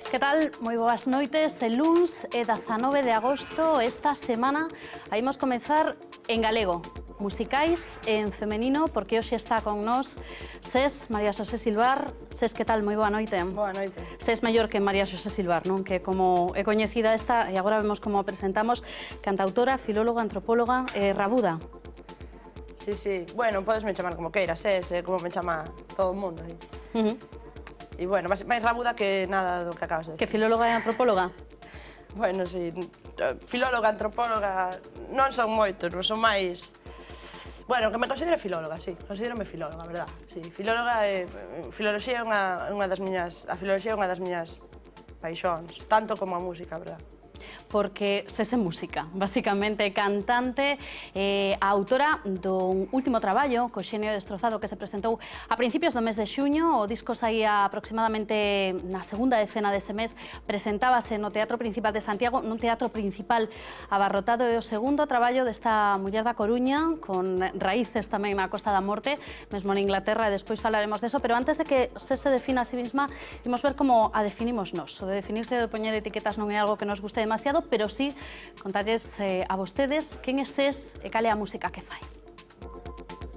Que tal? Moi boas noites. El luns é 19 de agosto. Esta semana imos comezar en galego, musicais en femenino, porque hoxe está con nós Ses, María Xosé Silvar. Ses, que tal? Moi boa noite. Boa noite. Ses mellor que María Xosé Silvar, non? Que como é coñecida esta, e agora vemos como a presentamos, cantautora, filóloga, antropóloga, rabuda. Sí, sí. Bueno, podesme chamar como queiras, como me chama todo o mundo. E, bueno, máis rabuda que nada do que acabas de decir. Que filóloga e antropóloga? Bueno, sí. Filóloga, antropóloga, non son moitos, non son máis... Bueno, que me considere filóloga, sí. Considérame filóloga, verdad. Sí, filóloga e... Filoloxía é unha das miñas... A filoloxía é unha das miñas paixóns, tanto como a música, verdad. Porque Ses é música, basicamente cantante, a autora dun último traballo, co Xenio Destrozado, que se presentou a principios do mes de xuño. O disco saía aproximadamente na segunda decena deste mes, presentábase no Teatro Principal de Santiago, nun teatro principal abarrotado. É o segundo traballo desta muller da Coruña, con raíces tamén na Costa da Morte, mesmo en Inglaterra, e despois falaremos deso, pero antes de que Ses se defina a sí mesma, imos ver como a definimos nos. O de definirse e de poñer etiquetas non é algo que nos guste demasiado, pero sí contarles a vostedes quen é Ses e cal é a música que fai.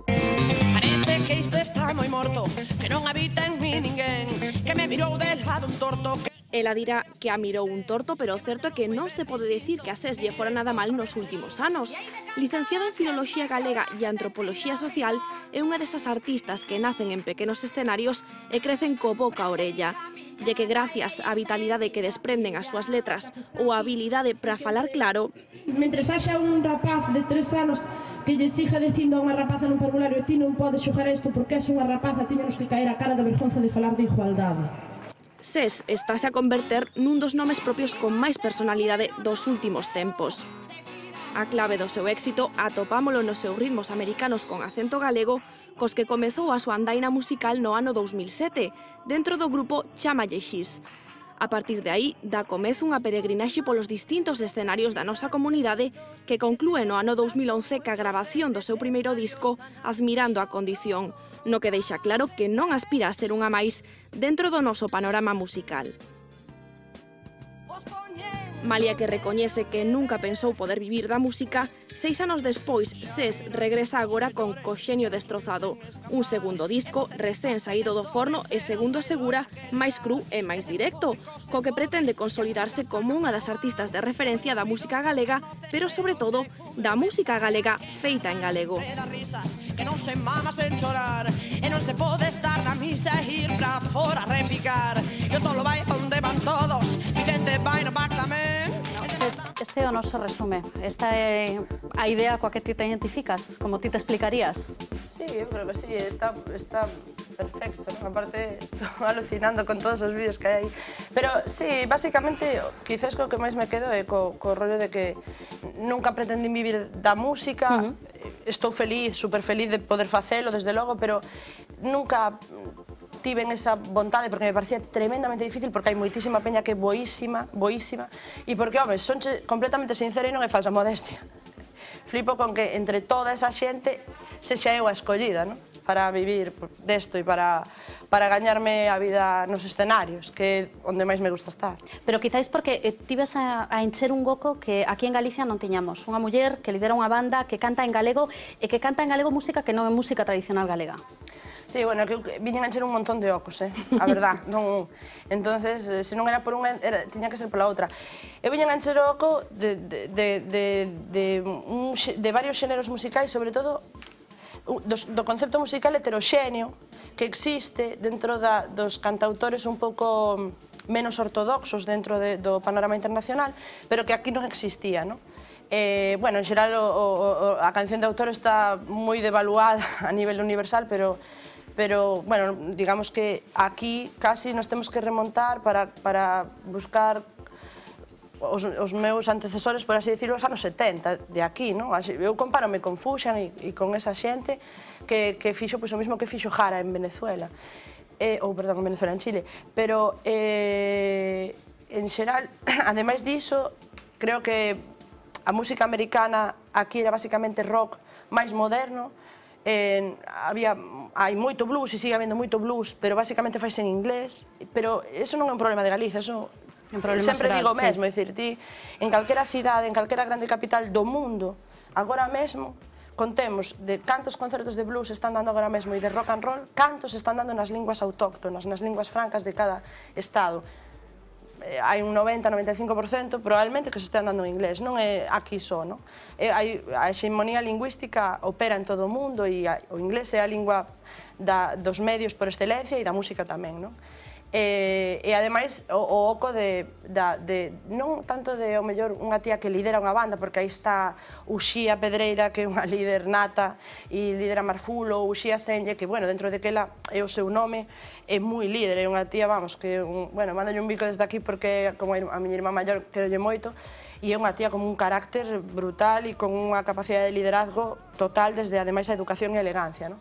Parece que isto está moi morto, que non habita en mí ninguén, que me mirou de lado un torto. Ela dirá que a mirou un torto, pero o certo é que non se pode dicir que a Ses lle fora nada mal nos últimos anos. Licenciada en Filoloxía Galega e Antropoloxía Social, é unha desas artistas que nacen en pequenos escenarios e crecen co boca a orella. E que gracias á vitalidade que desprenden as súas letras ou a habilidade para falar claro, mentres haxa un rapaz de 3 anos que lle siga dicindo a unha rapaza nun formulario: ti non podes xogar isto porque és unha rapaza, tiñanos que caer a cara de vergonza de falar de igualdade. Ses estáse a converter nun dos nomes propios con máis personalidade dos últimos tempos. A clave do seu éxito atopámolo nos seus ritmos americanos con acento galego, cos que comezou a súa andaina musical no ano 2007, dentro do grupo Chámalle Xis. A partir de aí, dá comezo unha peregrinaxe polos distintos escenarios da nosa comunidade que conclúe no ano 2011 ca grabación do seu primeiro disco Admirando a Condición, no que deixa claro que non aspira a ser unha máis dentro do noso panorama musical. Malia que recoñece que nunca pensou poder vivir da música, 6 anos despois, Ses regresa agora con Co Xenio Destrozado, un segundo disco recén saído do forno e, segundo asegura, máis cru e máis directo, co que pretende consolidarse como unha das artistas de referencia da música galega, pero sobre todo da música galega feita en galego. Que non se mamas en chorar, e non se pode estar na misa e ir pra fora a repicar. Eu todo vai onde van todos, mi gente vai no back tamén. Este é o noso resume. Esta é a idea coa que ti te identificas, como ti te explicarías? Sí, eu creo que sí, está perfecto, ¿no? Aparte, estou alucinando con todos os vídeos que hai aí. Pero sí, basicamente, quizás co que máis me quedo é co rollo de que nunca pretendín vivir da música. Estou feliz, super feliz de poder facelo, desde logo, pero nunca tiven esa vontade porque me parecía tremendamente difícil, porque hai moitísima peña que é boísima, e porque, home, son completamente sincera e non é falsa modestia. Flipo con que entre toda esa xente sexa eu a escollida, non? Para vivir desto e para gañarme a vida nos escenarios, que é onde máis me gusta estar. Pero quizáis porque tives a encher un goco que aquí en Galicia non tiñamos. Unha muller que lidera unha banda que canta en galego e que canta en galego música que non é música tradicional galega. Sí, bueno, que viñen a encher un montón de ocos, a verdad, non... Entonces, se non era por unha, tiña que ser pola outra. Eu viñen a encher o oco de varios xéneros musicais, sobre todo do concepto musical heteroxéneo que existe dentro dos cantautores un pouco menos ortodoxos dentro do panorama internacional, pero que aquí non existía, non? Bueno, en xeral, a canción de autor está moi devaluada a nivel universal, pero, bueno, digamos que aquí casi nos temos que remontar para buscar os meus antecesores, por así decirlo, os anos 70 de aquí, non? Eu compárome con Fuxan e con esa xente que fixo o mismo que fixo Jara en Venezuela, ou, perdón, en Venezuela, en Chile, pero, en xeral, ademais diso, creo que a música americana aquí era basicamente rock máis moderno, hai moito blues e sigue habendo moito blues, pero basicamente faise en inglés, pero eso non é un problema de Galicia, eso sempre digo mesmo, é dicir, ti en calquera cidade, en calquera grande capital do mundo, agora mesmo, contemos de cantos concertos de blues están dando agora mesmo e de rock and roll, cantos están dando nas linguas autóctonas, nas linguas francas de cada estado. Hai un 90-95% probablemente que se están dando en inglés, non é aquí só, non? A hexemonía lingüística opera en todo o mundo e o inglés é a lingua dos medios por excelencia e da música tamén, non? E ademais o oco non tanto de, ao mellor, unha tía que lidera unha banda, porque aí está Uxía Pedreira, que é unha líder nata, e lidera Marfulo, Uxía Senlle, que, bueno, dentro de que ela é o seu nome, é moi líder, é unha tía, vamos, que, bueno, mándolle un bico desde aquí porque, como a miña irmá maior, querolle moito, e é unha tía con un carácter brutal e con unha capacidade de liderazgo total desde, ademais, a educación e a elegancia, non?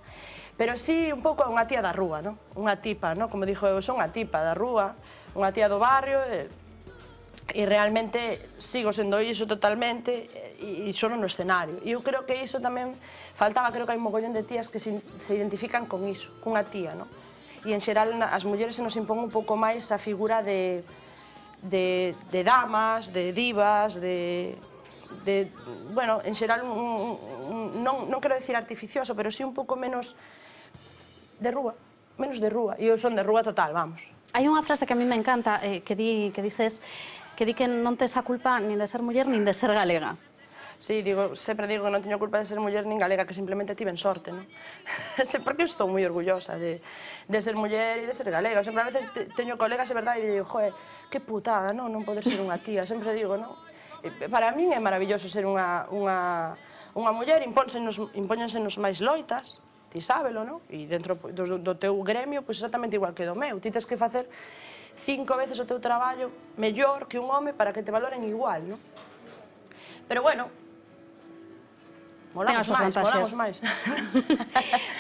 Pero sí, un pouco unha tía da rúa, non? Unha tipa, non? Como dixo eu, son unha tipa da rúa, unha tía do barrio, e realmente sigo sendo iso totalmente, e só no escenario. E eu creo que iso tamén faltaba, creo que hai un mogollón de tías que se identifican con iso, cunha tía, non? E en xeral as mulleres se nos impón un pouco máis a figura de damas, de divas, bueno, en xeral, non quero dicir artificioso, pero sí un pouco menos de rúa, menos de rúa, e eu son de rúa total, vamos. Hai unha frase que a mí me encanta, que dices que non tes a culpa nin de ser muller nin de ser galega. Sí, sempre digo que non teño culpa de ser muller nin galega, que simplemente tiven sorte, non? Porque eu estou moi orgullosa de ser muller e de ser galega. Sempre a veces teño colegas, é verdade, e digo, joe, que putada, non poder ser unha tía, sempre digo, non? Para min é maravilloso ser unha muller, impóñensenos máis loitas, ti sábelo, non? E dentro do teu gremio, pois exactamente igual que do meu. Ti tes que facer 5 veces o teu traballo mellor que un home para que te valoren igual, non? Pero, bueno, molamos máis.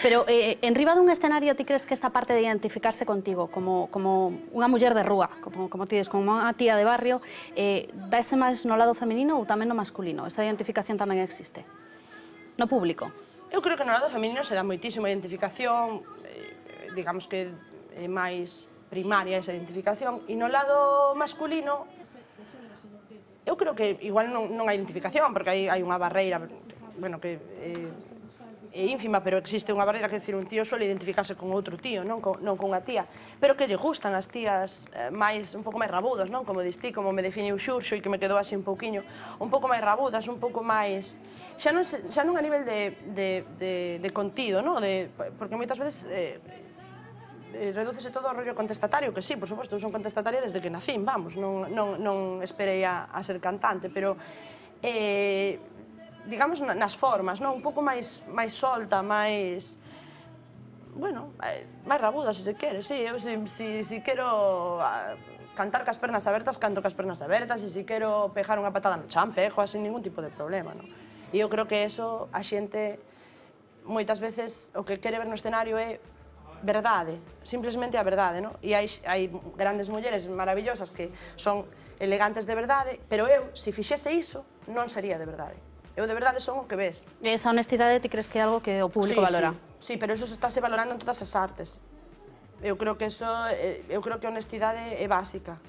Pero, en riba dun escenario, ti crees que esta parte de identificarse contigo como unha muller de rúa, como ti dices, como unha tía de barrio, dáse máis no lado feminino ou tamén no masculino? Esa identificación tamén existe? No público? Eu creo que no lado feminino se dá moitísima identificación, digamos que é máis primaria esa identificación, e no lado masculino, eu creo que igual non hai identificación, porque hai unha barreira, bueno, que é ínfima, pero existe unha barreira, que decir, un tío suele identificarse con outro tío, non con unha tía, pero que lle gustan as tías un pouco máis rabudas, non? Como distí, como me definiu Xurxo, e que me quedou así un pouquiño, un pouco máis rabudas, un pouco máis... Xa non a nivel de contido, non? Porque moitas veces redúcese todo ao rollo contestatario, que sí, por suposto, eu son contestataria desde que nacín, vamos, non esperei a ser cantante, pero digamos nas formas, un pouco máis solta, máis, bueno, máis rabuda, se quere, sí, eu se quero cantar cas pernas abertas, canto cas pernas abertas, e se quero pejar unha patada no chan, pejo, sin ningún tipo de problema, non? E eu creo que eso, a xente, moitas veces, o que quere ver no escenario é verdade, simplesmente a verdade, non? E hai grandes mulleres maravillosas que son elegantes de verdade, pero eu, se fixese iso, non sería de verdade. Eu de verdade son o que ves. E esa honestidade ti crees que é algo que o público valora? Sí, pero eso estáse valorando en todas as artes. Eu creo que a honestidade é básica.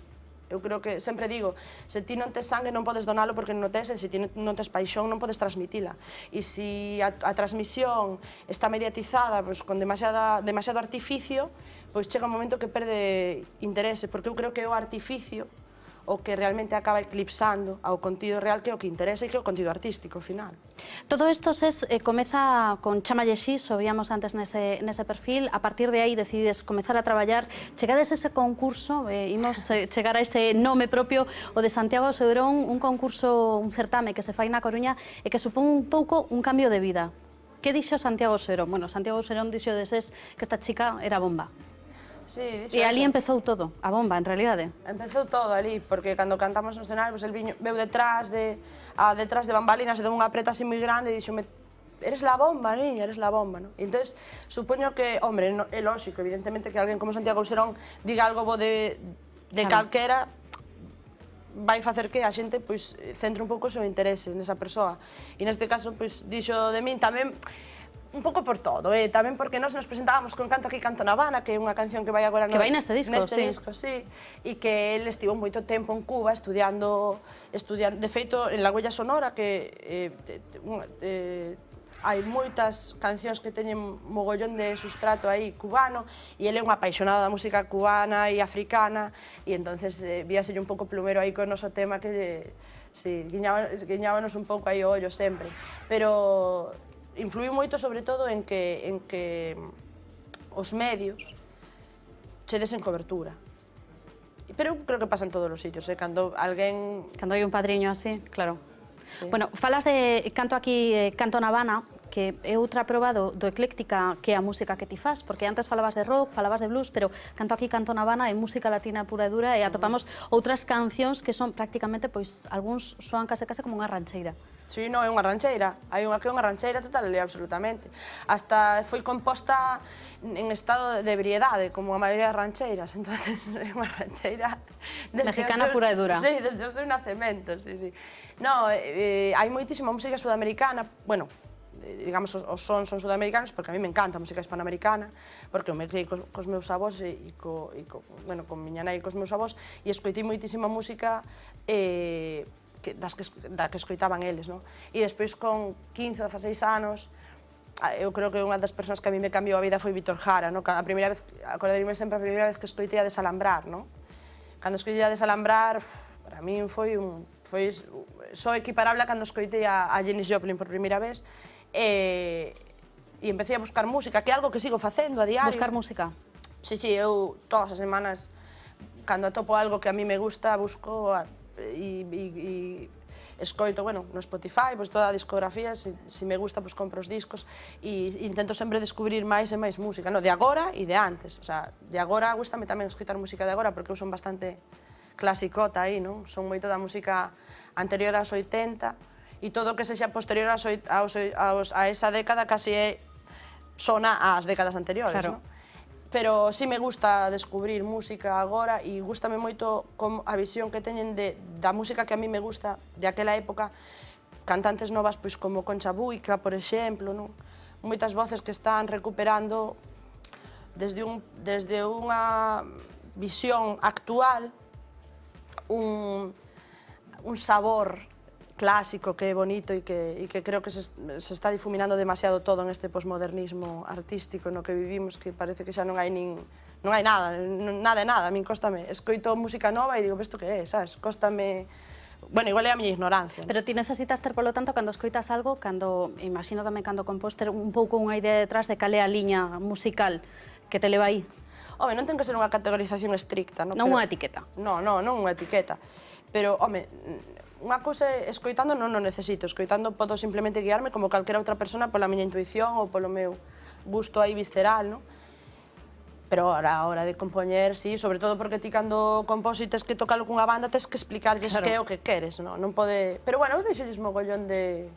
Eu creo que, sempre digo, se ti non tes sangue non podes donalo porque non o tes, e se ti non tes paixón non podes transmitila. E se a transmisión está mediatizada con demasiado artificio, pois chega un momento que perde interese, porque eu creo que é o artificio o que realmente acaba eclipsando ao contido real, que é o que interesa e que é o contido artístico, ao final. Todo isto comeza con Chámalle Xis, o víamos antes nese perfil, a partir de aí decides comezar a traballar, chegades ese concurso, imos chegar a ese nome propio, o de Santiago Ouseirón, un concurso, un certame que se fai na Coruña e que supón un pouco un cambio de vida. Que dixo Santiago Ouseirón? Bueno, Santiago Ouseirón dixo deses que esta chica era bomba. Sí, E ali empezou todo, a bomba, en realidade. Empezou todo ali, porque cando cantamos no escenario, el veu detrás de bambalinas e deu unha preta así moi grande e dixome, eres la bomba, niña, eres la bomba, non? E entón, supoño que, hombre, é lógico, evidentemente, que alguén como Santiago Serón diga algo bo de calquera, vai facer que a xente centre un pouco o seu interese nesa persoa. E neste caso, dixo de min tamén, un pouco por todo, tamén porque nós nos presentábamos con Canto aquí, Canto na Habana, que é unha canción que vai agora neste disco, sí, e que ele estivo moito tempo en Cuba estudiando, de feito, en La Huella Sonora, que hai moitas cancións que teñen mogollón de sustrato aí cubano, e ele é un apaixonado da música cubana e africana, e entonces víaselle un pouco plumero aí con o noso tema que, sí, guiñábanos un pouco aí o ollo sempre, pero influiu moito sobre todo en que os medios che desen cobertura. Pero creo que pasa en todos os sitios, cando alguén... Cando hai un padriño así, claro. Bueno, falas de Canto aquí, Canto na Habana, que é outra proba do ecléctica que é a música que ti fas, porque antes falabas de rock, falabas de blues, pero Canto aquí, Canto na Habana é música latina pura e dura e atopamos outras cancións que son prácticamente, pois, algúns soan case como unha rancheira. Sí, non, é unha rancheira. Hai unha que é unha rancheira total e absolutamente. Hasta foi composta en estado de ebriedade, como a maioría das rancheiras. Entonces, é unha rancheira... Mexicana pura e dura. Sí, desde o seu nacemento, sí, sí. No, hai moitísima música sudamericana, bueno, digamos, os sons son sudamericanos, porque a mí me encanta a música hispanoamericana, porque eu me criei cos meus avós e con miña nai e cos meus avós, e escoitei moitísima música da que escoitaban eles, non? E despois, con 15 ou 16 anos, eu creo que unha das persoas que a mí me cambiou a vida foi Víctor Jara, non? A primeira vez, acordaríme sempre a primeira vez que escoitei a Desalambrar, non? Cando escoitei a Desalambrar, para min foi só equiparable a cando escoitei a Janis Joplin por primeira vez, e empecé a buscar música, que é algo que sigo facendo a diario. Buscar música? Sí, eu todas as semanas, cando atopo algo que a mí me gusta, busco e escoito, bueno, no Spotify, toda a discografía, se me gusta, compro os discos e intento sempre descubrir máis e máis música, de agora e de antes, o sea, de agora gustame tamén escoitar música de agora porque eu son bastante clasicota aí, non? Son moito da música anterior aos 80 e todo o que sexa posterior a esa década casi sona ás décadas anteriores, non? Pero sí me gusta descubrir música agora e gústame moito a visión que teñen da música que a mí me gusta de aquela época, cantantes novas como Concha Buica, por exemplo, moitas voces que están recuperando desde unha visión actual un sabor clásico que é bonito e que creo que se está difuminando demasiado todo en este posmodernismo artístico no que vivimos, que parece que xa non hai nada, nada, a min cóstame. Escoito música nova e digo, isto que é, sabes? Cóstame... Bueno, igual é a miña ignorancia. Pero ti necesitas ter, polo tanto, cando escoitas algo, imagino tamén cando compós, ter un pouco unha idea detrás de cal é a liña musical que te leva aí. Home, non ten que ser unha categorización estricta, non? Non unha etiqueta. Non unha etiqueta. Pero, home, unha cousa escoitando non o necesito, escoitando podo simplemente guiarme como calquera outra persona pola miña intuición ou polo meu gusto aí visceral, non? Pero a hora de compoñer, sí, sobre todo porque ti cando compós e tes que tocalo cunha banda tes que explicarlles que é o que queres, non? Non pode... Pero bueno, eu deixolles mogollón de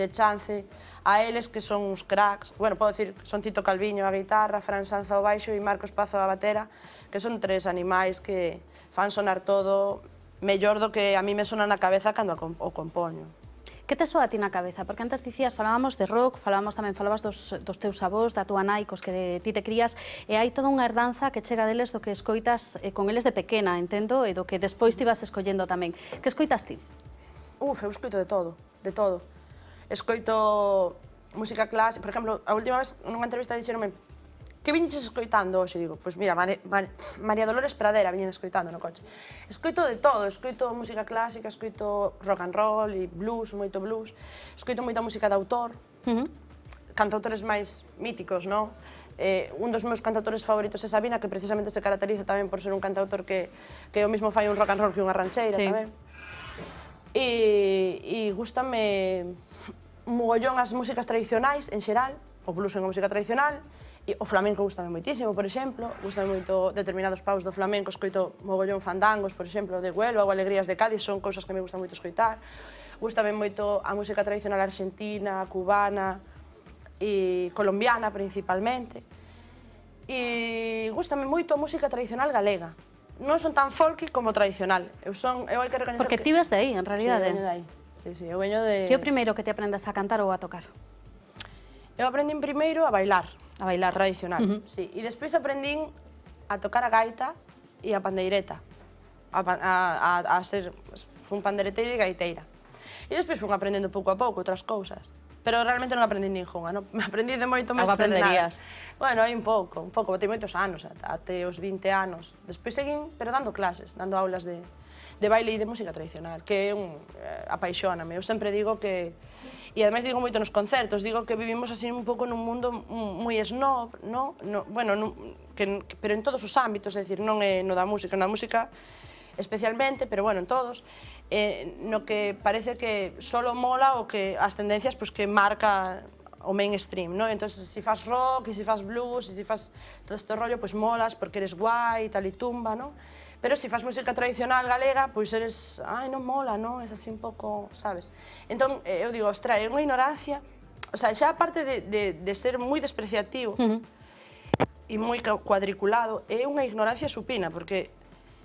chance a eles que son uns cracks. Bueno, podo dicir, son Tito Calviño a guitarra, Fran Sanz ao baixo e Marcos Pazo a batera, que son tres animais que fan sonar todo mellor do que a mí me sona na cabeza cando o compoño. Que te soa a ti na cabeza? Porque antes dicías, falábamos de rock, falabas dos teus avós, da túa nai, cos que ti te crías, e hai toda unha herdanza que chega deles do que escoitas con eles de pequena, entendo, e do que despois te ibas escollendo tamén. Que escoitas ti? Eu escoito de todo, de todo. Escoito música clásica, por exemplo, a última vez nunha entrevista dixeronme que viñes escoitando hoxe? Digo, pois mira, María Dolores Pradera viñen escoitando no coche. Escoito de todo, escoito música clásica, escoito rock and roll e blues, moito blues, escoito moita música de autor, cantautores máis míticos, non? Un dos meus cantautores favoritos é Sabina, que precisamente se caracteriza tamén por ser un cantautor que o mismo fai un rock and roll que unha rancheira tamén. E gústame mogollón as músicas tradicionais, en xeral, o blues é unha música tradicional, e o flamenco gustame moitísimo, por exemplo, gustame moito determinados paus do flamenco, escoito mogollón fandangos, por exemplo, de Huelva ou Alegrías de Cádiz, son cousas que me gustan moito escoitar. Gustame moito a música tradicional argentina, cubana e colombiana principalmente. E gustame moito a música tradicional galega. Non son tan folky como tradicional. Eu hai que recoñecer Porque ti ves de aí, en realidade. Sí, eu veño de aí. Sí, eu veño de... Que é o primeiro que te aprendes a cantar ou a tocar? Eu aprendín primeiro a bailar. A bailar. Tradicional, sí. E despois aprendín a tocar a gaita e a pandeireta. A ser un pandereteiro e gaiteira. E despois fun aprendendo pouco a pouco outras cousas. Pero realmente non aprendí ningunha, non? Aprendí de moito máis Algo de nada. aprenderías? Bueno, hai un pouco, botei moitos anos, até os 20 anos. Despois seguín, pero dando clases, dando aulas de baile e de música tradicional, que apaixóname. Eu sempre digo que, e ademais digo moito nos concertos, digo que vivimos así un pouco nun mundo moi snob, no? Bueno, pero en todos os ámbitos, é dicir, non é no da música, na música especialmente, pero bueno, en todos, no que parece que solo mola o que as tendencias que marca o mainstream, ¿no? Entonces, si fas rock, e si fas blues, e si fas todo este rollo, pues molas porque eres guai, tal e tumba, ¿no? Pero si fas música tradicional galega, pois eres, ai, non mola, ¿no? Es así un pouco, sabes? Entón, eu digo, ostra, é unha ignorancia, o sea, xa aparte de ser moi despreciativo e moi cuadriculado, é unha ignorancia supina, porque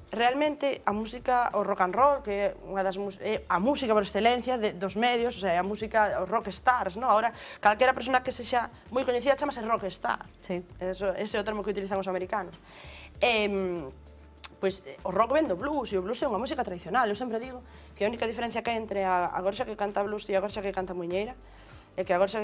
realmente a música, o rock and roll, que é a música por excelencia dos medios, o sea, a música, os rock stars, ¿no? Ahora, calquera persona que sexa moi coñecida chamase rock star. Sí. Ese é o termo que utilizan os americanos. Pois o rock ven do blues, e o blues é unha música tradicional. Eu sempre digo que a única diferencia que hai entre a gorxa que canta blues e a gorxa que canta muiñeira é que a gorxa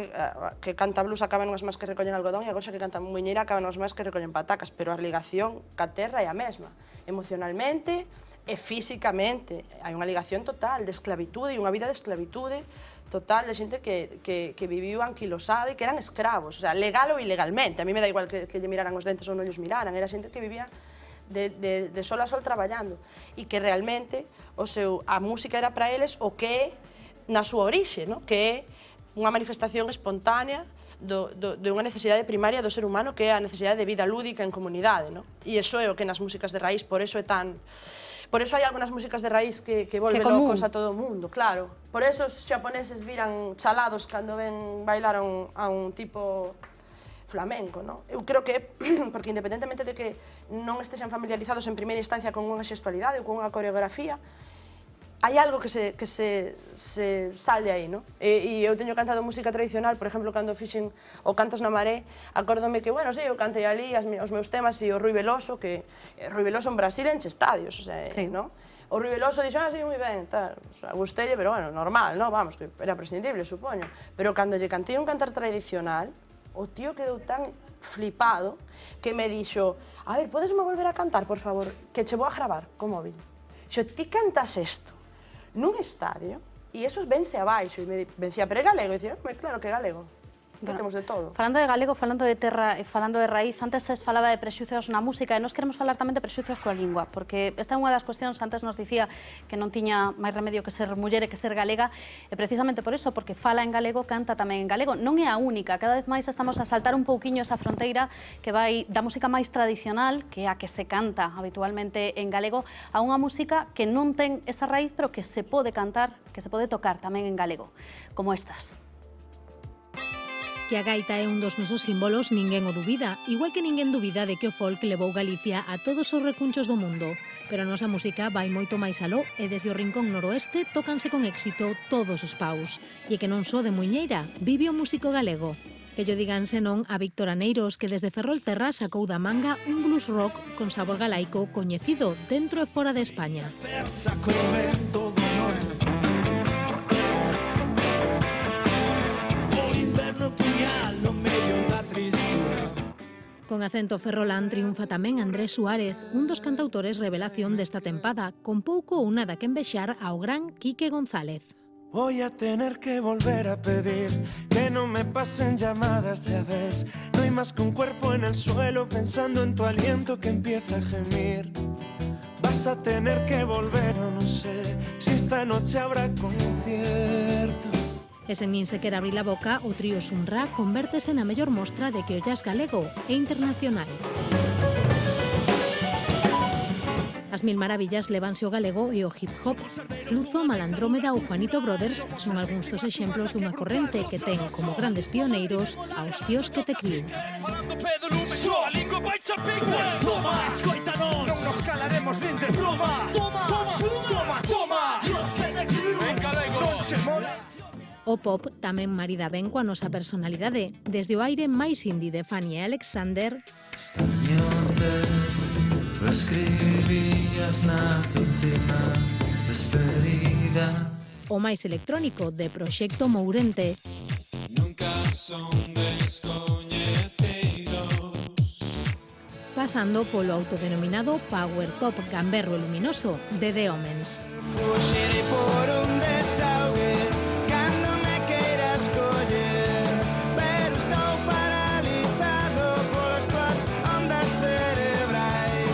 que canta blues acaba nunhas más que recollen algodón e a gorxa que canta muiñeira acaba nunhas más que recollen patacas, pero a ligación ca terra é a mesma, emocionalmente e físicamente. Hai unha ligación total de esclavitude e unha vida de esclavitude total de xente que viviu anquilosada e que eran escravos, o sea, legal ou ilegalmente. A mí me dá igual que lle miraran os dentes ou non lles miraran, era xente que vivía de sol a sol traballando e que realmente a música era para eles o que é na súa orixe, que é unha manifestación espontánea de unha necesidade primaria do ser humano, que é a necesidade de vida lúdica en comunidade. E iso é o que nas músicas de raíz, por eso é tan... Por eso hai algunhas músicas de raíz que volven locos a todo o mundo, claro. Por eso os xaponeses viran chalados cando ven bailar a un tipo flamenco, non? Eu creo que, porque independentemente de que non estexan familiarizados en primeira instancia con unha xestualidade ou con unha coreografía, hai algo que se sale aí, non? E eu teño cantado música tradicional, por exemplo, cando fixen o Cantos na Maré, acórdome que, bueno, sí, eu cantei ali os meus temas e o Rui Veloso, que Rui Veloso en Brasil enche estadios, o sea, non? O Rui Veloso dixo, sí, moi ben, tal, gustelle, pero, bueno, normal, non? Vamos, que era prescindible, supoño. Pero cando lle cantei un cantar tradicional, o tío quedou tan flipado que me dixo, a ver, podesme volver a cantar, por favor, que che vou a gravar co móvil. Xo, ti cantas isto nun estadio, e esos vense abaixo, e me decía, pero é galego, e dicía, claro que é galego, que temos de todo. Falando de galego, falando de terra e falando de raíz, antes se falaba de prexuicios na música, e nós queremos falar tamén de prexuicios coa lingua, porque esta é unha das cuestións, antes nos dicía que non tiña máis remedio que ser muller e que ser galega, e precisamente por iso, porque fala en galego, canta tamén en galego. Non é a única, cada vez máis estamos a saltar un pouquiño esa fronteira que vai da música máis tradicional, que é a que se canta habitualmente en galego, a unha música que non ten esa raíz, pero que se pode cantar, que se pode tocar tamén en galego, como estas. Que a gaita é un dos nosos símbolos ninguén o dubida, igual que ninguén dubida de que o folk levou Galicia a todos os recunchos do mundo. Pero a nosa música vai moito máis aló e desde o rincón noroeste tócanse con éxito todos os paus. E que non só de muiñeira, vive o músico galego. Que llo digan senón a Víctor Aneiros, que desde Ferrolterra sacou da manga un blues rock con sabor galaico coñecido dentro e fora de España. Con acento ferrolán triunfa tamén Andrés Suárez, un dos cantautores revelación desta tempada, con pouco ou nada que envexar ao gran Quique González. Voy a tener que volver a pedir que no me pasen llamadas, ya ves. No hay más que un cuerpo en el suelo pensando en tu aliento que empieza a gemir. Vas a tener que volver o no sé si esta noche habrá concierto. E sen nin sequer abrir a boca, o trío Sunra convértese na mellor mostra de que o jazz galego é internacional. As Mil Maravillas levanse o galego e o hip-hop. Fluzo, Malandrómeda ou Juanito Brothers son algúns dos exemplos dunha corrente que ten como grandes pioneiros aos tíos que te criou. O pop tamén marida ben coa nosa personalidade, desde o aire máis indie de Fanny e Alexander escribías na última despedida, o máis electrónico de Proxecto Mourente. Nunca son descoñecidos, pasando polo autodenominado Power Pop gamberro e luminoso de The Omens. Fuxirei por un desaugue cando me queiras coller, pero estou paralizado polas tuas ondas cerebrais.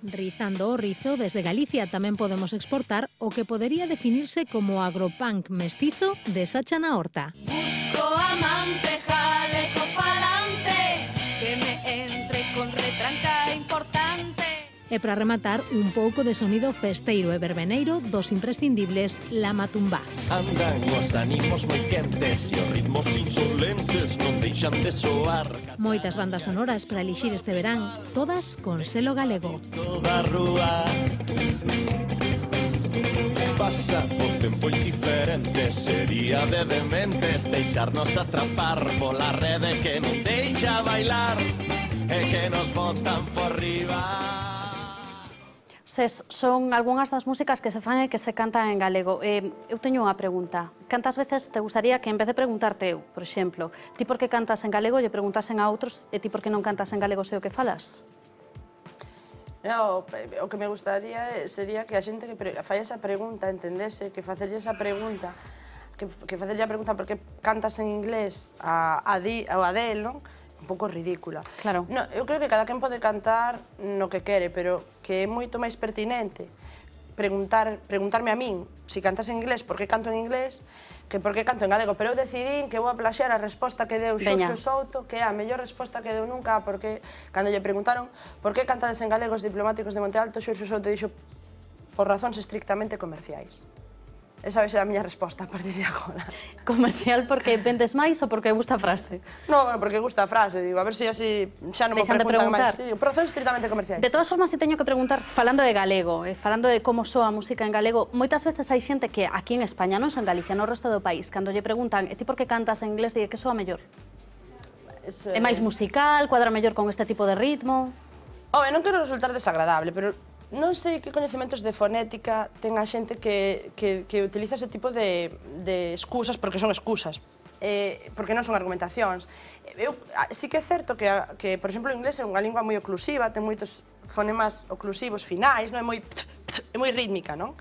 Rizando o rizo, desde Galicia tamén podemos exportar o que podería definirse como agropunk mestizo de Sacha na Horta. Busco amante, jaleco palante, que me entre con retranca importante. E para rematar, un pouco de sonido festeiro e verbeneiro dos imprescindibles Lama Tumbá. Andan os ánimos moi quentes e os ritmos insolentes non deixan de soar. Moitas bandas sonoras para elixir este verán, todas con selo galego. Toda rúa pasa o tempo indiferente, sería de dementes deixarnos atrapar pola rede que non deixa bailar e que nos botan por riba. Son algunhas das músicas que se fan e que se cantan en galego. Eu teño unha pregunta. Cantas veces te gustaría que, en vez de preguntarte eu, por exemplo, ti por que cantas en galego, lle preguntasen a outros e ti por que non cantas en galego sei o que falas? O que me gustaría sería que a xente que fai esa pregunta entendese que facerlle esa pregunta, que facerlle a pregunta por que cantas en inglés a Adele, non? Un pouco ridícula. Claro. No, eu creo que cada quen pode cantar no que quere, pero que é moito máis pertinente preguntarme a min se cantas en inglés, por que canto en inglés, que por que canto en galego. Pero eu decidín que vou a plaxear a resposta que deu Xorxo Souto, que é a mellor resposta que deu nunca, porque cando lle preguntaron por que cantades en galego os diplomáticos de Monte Alto, Xorxo Souto dixo por razóns estrictamente comerciais. Esa vai ser a miña resposta a partir de agora. Comercial porque vendes máis ou porque gusta a frase? Non, porque gusta a frase, digo, a ver se así xa non me preguntan máis. Procesos estritamente comerciais. De todas formas, se teño que preguntar, falando de galego, falando de como soa a música en galego, moitas veces hai xente que aquí en España, non en Galicia, no resto do país, cando lle preguntan, e ti por que cantas en inglés, digue que soa mellor? É máis musical, cuadra mellor con este tipo de ritmo? Home, non quero resultar desagradable, pero non sei que coñecementos de fonética ten a xente que utiliza ese tipo de excusas, porque son excusas, porque non son argumentacións. Sí que é certo que, por exemplo, o inglés é unha lingua moi oclusiva, ten moitos fonemas oclusivos finais, non é moi rítmica, non?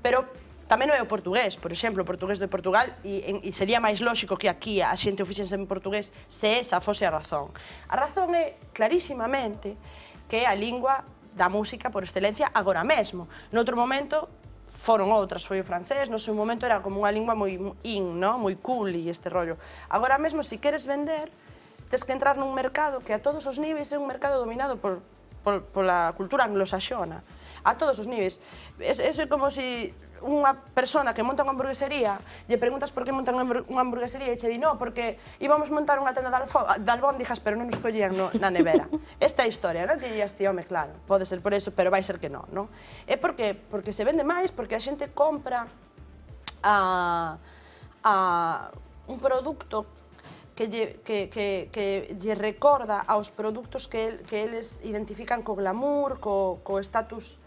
Pero tamén non é o portugués, por exemplo, o portugués de Portugal, e sería máis lóxico que aquí a xente o fixense en portugués se esa fose a razón. A razón é clarísimamente que é a lingua da música por excelencia agora mesmo. Noutro momento foron outras, foi o francés, no seu momento era como unha lingua moi moi cool e este rollo. Agora mesmo, se queres vender, tes que entrar nun mercado que a todos os niveis é un mercado dominado pola cultura anglosaxona. A todos os niveis. É como se unha persona que monta unha hamburguesería, lle preguntas por que montan unha hamburguesería e che di, no, porque íbamos montar unha tenda de albóndigas, pero non nos collían na nevera. Esta é a historia, non? Que dias, tío, home, claro, pode ser por eso, pero vai ser que non, non? É porque se vende máis, porque a xente compra un produto que lle recorda aos produtos que eles identifican co glamour, co estatus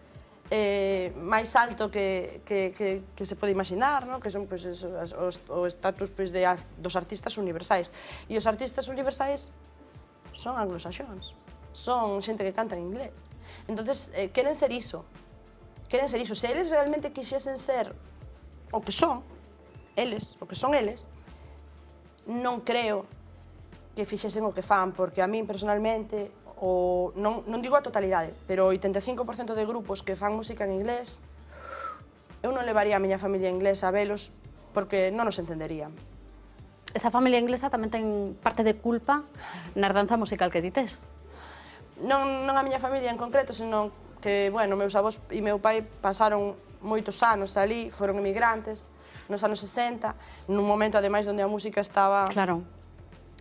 máis alto que se pode imaginar, que son o estatus dos artistas universais. E os artistas universais son anglosaxóns, son xente que canta en inglés. Entonces, queren ser iso. Se eles realmente quixesen ser o que son eles, non creo que fixesen o que fan, porque a min personalmente, non digo a totalidade, pero o 85% de grupos que fan música en inglés, eu non levaría a miña familia inglesa a velos porque non nos entenderían. esa familia inglesa tamén ten parte de culpa na herdanza musical que ti tes. Non a miña familia en concreto, senón que, bueno, meus avós e meu pai pasaron moitos anos ali, foron emigrantes, nos anos 60, nun momento, ademais, onde a música estaba... Claro.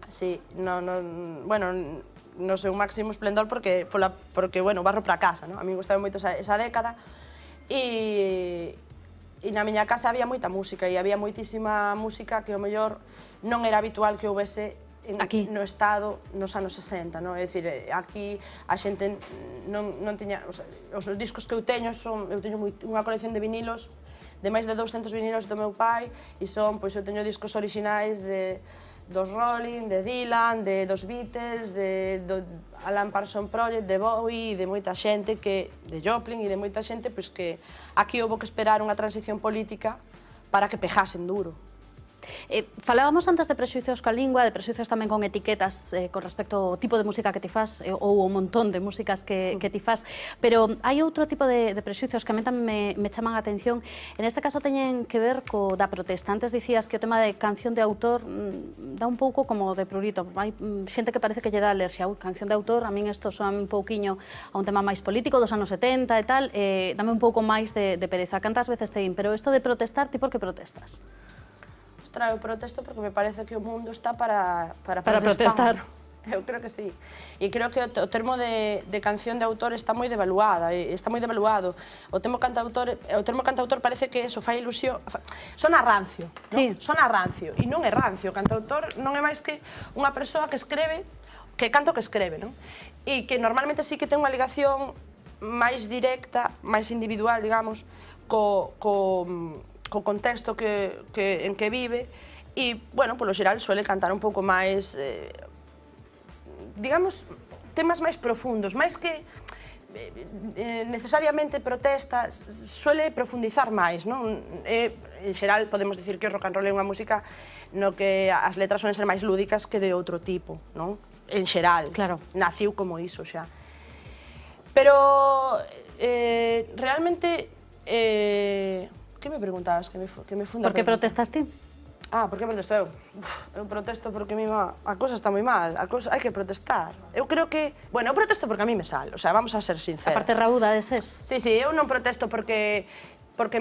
Sí, bueno, no seu máximo esplendor porque, bueno, barro para casa, non? A mí gustaba moito esa década e na miña casa había moita música e había moitísima música que, ao mellor, non era habitual que houvese no Estado nos anos 60, non? É dicir, aquí a xente non tiña... Os discos que eu teño unha colección de vinilos, de máis de 200 vinilos do meu pai, e eu teño discos orixinais dos Rolling, de Dylan, dos Beatles, do Alan Parsons Project, de Bowie, de moita xente, de Joplin e de moita xente, que aquí houve que esperar unha transición política para que pejasen duro. Falábamos antes de prexuicios coa lingua, de prexuicios tamén con etiquetas con respecto ao tipo de música que ti fas ou o montón de músicas que ti fas, pero hai outro tipo de prexuicios que a mí tamén me chaman a atención. En este caso teñen que ver co da protesta. Antes dicías que o tema de canción de autor dá un pouco como de prurito. Hai xente que parece que lle dá alerxia. Canción de autor, a min isto soa un pouquiño a un tema máis político dos anos 70 e tal, dame un pouco máis de pereza. Cantas veces te din, pero isto de protestar, ti por que protestas? Eu protesto porque me parece que o mundo está para protestar. Eu creo que sí. E creo que o termo de canción de autor está moi devaluado. O termo cantautor parece que eso fai ilusión. Sona rancio, non? Sona rancio. E non é rancio. O cantautor non é máis que unha persoa que escreve, que canta o que escreve, non? E que normalmente sí que ten unha ligación máis directa, máis individual, digamos, co contexto en que vive e, bueno, polo xeral suele cantar un pouco máis, digamos, temas máis profundos, máis que necesariamente protestas, suele profundizar máis, non? En xeral podemos dicir que o rock and roll é unha música no que as letras suelen ser máis lúdicas que de outro tipo, non? En xeral, naciu como iso xa. Pero, realmente, que me preguntabas? Que me funda por que protestas ti? Por que protesto eu? Eu protesto porque a cosa está moi mal, hai que protestar. Eu creo que... Bueno, eu protesto porque a mí me sale, o sea, vamos a ser sinceras. A parte raúda deses? Sí, eu non protesto porque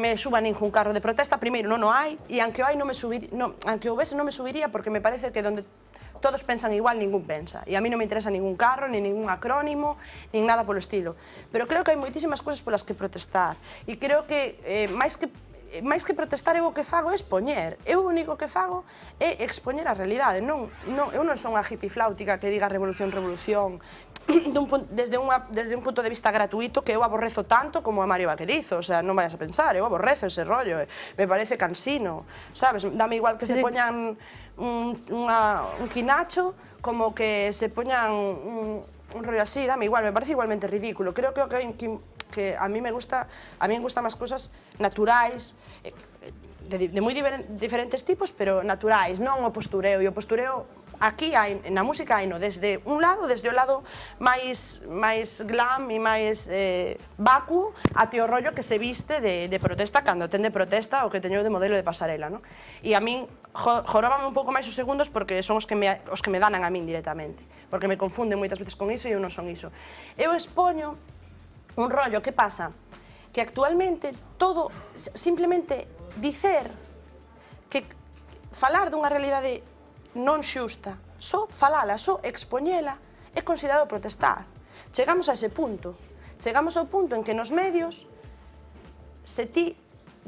me suba ningún carro de protesta, primeiro non o hai, e aunque houvese non me subiría porque me parece que donde todos pensan igual, ningún pensa. E a mí non me interesa ningún carro, ni ningún acrónimo, nin nada polo estilo. Pero creo que hai moitísimas cousas polas que protestar. E creo que, máis que protestar, eu o que fago é expoñer. Eu o único que fago é expoñer a realidade. Eu non son a hippie flautica que diga revolución, revolución, desde un punto de vista gratuito que eu aborrezo tanto como a Mario Vaquerizo. O sea, non vayas a pensar, eu aborrezo ese rollo. Me parece cansino, sabes? Dame igual que se poñan un quinacho como que se poñan un rollo así, dame igual, me parece igualmente ridículo. Creo que a mí me gustan máis cousas naturais, de moi diferentes tipos, pero naturais, non o postureo. E o postureo, aquí, na música, hai desde un lado, desde o lado máis glam e máis vacuo, até o rollo que se viste de protesta, cando ten de protesta, o que teño de modelo de pasarela, non? E a min joróbame un pouco máis os segundos porque son os que me danan a min directamente, porque me confunden moitas veces con iso e eu non son iso. Eu expoño un rollo, que pasa? Que actualmente todo, simplemente dicer que falar dunha realidade non xusta, só falala, só expoñela, é considerado protestar. Chegamos a ese punto. Chegamos ao punto en que nos medios, se ti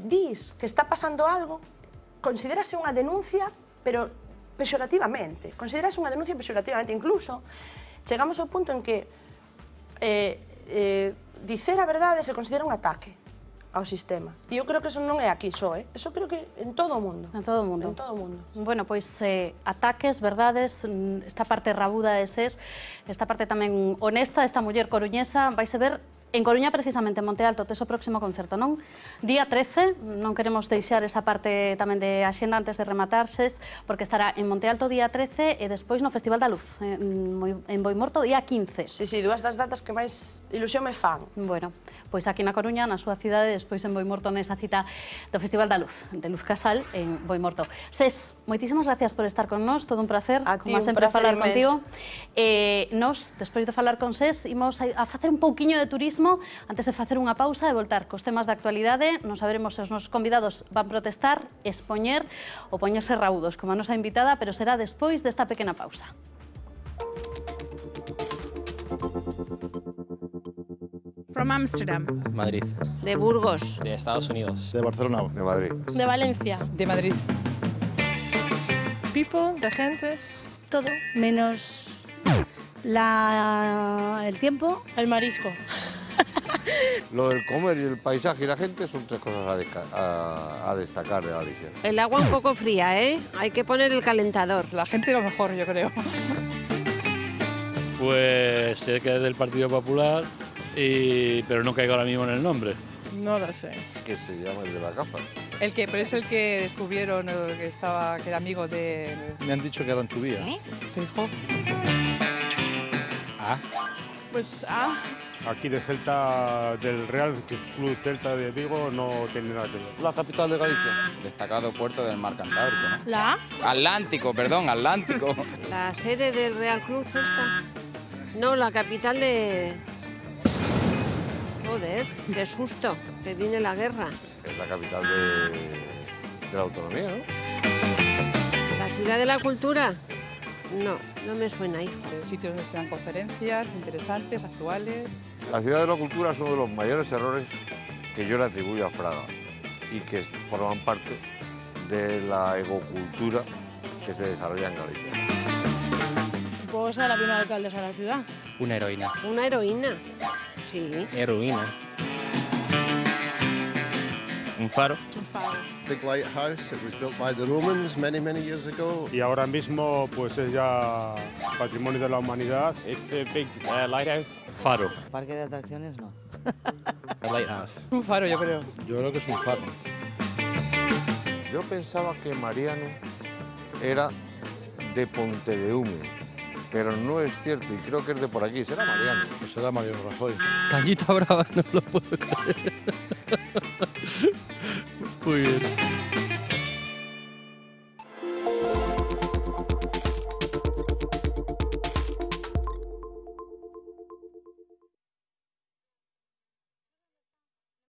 dis que está pasando algo, considérase unha denuncia, pero pexorativamente. Considérase unha denuncia pexorativamente. Incluso, chegamos ao punto en que dicer a verdade se considera un ataque ao sistema. E eu creo que eso non é aquí só, eso creo que en todo o mundo. En todo o mundo. En todo o mundo. Bueno, pois ataques, verdades, esta parte rabuda de SES, esta parte tamén honesta, esta muller coruñesa, vais a ver En Coruña, precisamente, en Monte Alto, tes o próximo concerto, non? Día 13, non queremos deixar esa parte tamén de axenda antes de rematarses, porque estará en Monte Alto día 13 e despois no Festival da Luz, en Boimorto, día 15. Sí, dúas das datas que máis ilusión me fan. Bueno, pois aquí na Coruña, na súa cidade, despois en Boimorto nesa cita do Festival da Luz, de Luz Casal, en Boimorto. Ses, moitísimas gracias por estar con nós, todo un placer, como sempre, falar contigo. Nos, despois de falar con Ses, imos a facer un pouquiño de turismo antes de facer unha pausa e voltar cos temas de actualidade. Non saberemos se os nosos convidados van protestar, expoñer ou poñerse raudos, como a nosa invitada, pero será despois desta pequena pausa. From Amsterdam. Madrid. De Burgos. De Estados Unidos. De Barcelona. De Madrid. De Valencia. De Madrid. People, de gentes, todo. Menos el tiempo. El marisco. Lo del comer y el paisaje y la gente son tres cosas a destacar de Galicia. El agua un poco fría, ¿eh? Hay que poner el calentador. La gente lo mejor, yo creo. Pues sé que es del Partido Popular, pero no caigo ahora mismo en el nombre. No lo sé. ¿Qué se llama el de la gafa? Pero es el que descubrieron que era amigo de... Me han dicho que era en tu vía. Feijóo. Pues Aquí de Celta, del Real Club Celta de Vigo, no tiene nada que ver. La capital de Galicia. Destacado puerto del mar Cantábrico, ¿no? ¿La? Atlántico, perdón, Atlántico. La sede del Real Club Celta. No, la capital de... Joder, qué susto, que viene la guerra. Es la capital de la autonomía, ¿no? ¿La ciudad de la cultura? No, no me suena, hijo. Sitios donde se dan conferencias interesantes, actuales. La ciudad de la cultura es uno de los mayores errores que yo le atribuyo a Fraga y que forman parte de la egocultura que se desarrolla en Galicia. Supongo que será la primera alcaldesa de la ciudad. Una heroína. ¿Una heroína? Sí. Heroína. Un faro. Un faro. Big lighthouse, it was built by the Romans many years ago. Y ahora mismo pues es ya patrimonio de la humanidad. It's the big lighthouse. Faro. Parque de atracciones no. A lighthouse. Un faro, yo creo. Yo creo que es un faro. Yo pensaba que Mariano era de Pontedeume, pero no es cierto y creo que es de por aquí. ¿Será Mariano? Pues será Mariano Rajoy. Cañita brava, no lo puedo creer. Muy bien.